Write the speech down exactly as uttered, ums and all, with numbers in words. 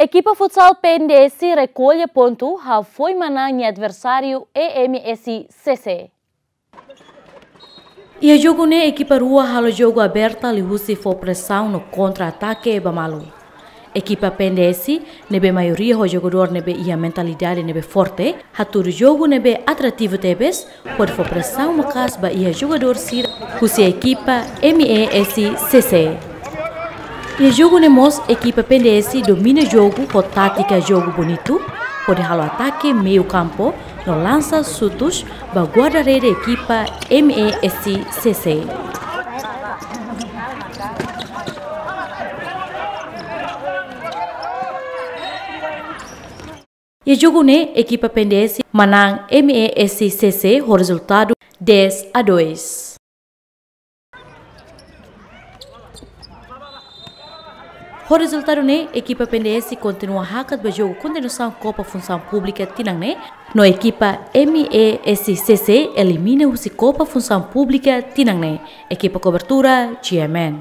Ekipa futsal P N D S rekolla pontu hafoin manán nia adversáriu E M S C C. Iha jogu ne'e ekipa rua halo jogu aberta liuhusi fó presaun no kontra-atake ba malu. Ekipa P N D S ne'ebé maioria ho jogadór ne'ebé iha mentalidade ne'ebé forte, hatudu jogu ne'ebé atrativu tebes, hodi fó presaun maka'as ba iha jogadór sira husi ekipa M E S C C. Iha jogu ne'e mós ekipa P N D S domina jogu ho tátika jogu bonitu, hodi halo atake meiu kampu no lansa xutus ba guarda-rede ekipa M E S C C. Iha jogu ne'e ekipa P N D S manán M E S C C ho rezultadu dez a dois. Ho rezultadu ne'e, ekipa P N D S kontinua hakat ba jogu kontinuasaun Kopa Funsaun Públika tinan ne'e, no ekipa M E S C C elimina husi Kopa Funsaun Públika tinan ne'e. Ekipa kobertura, G M N.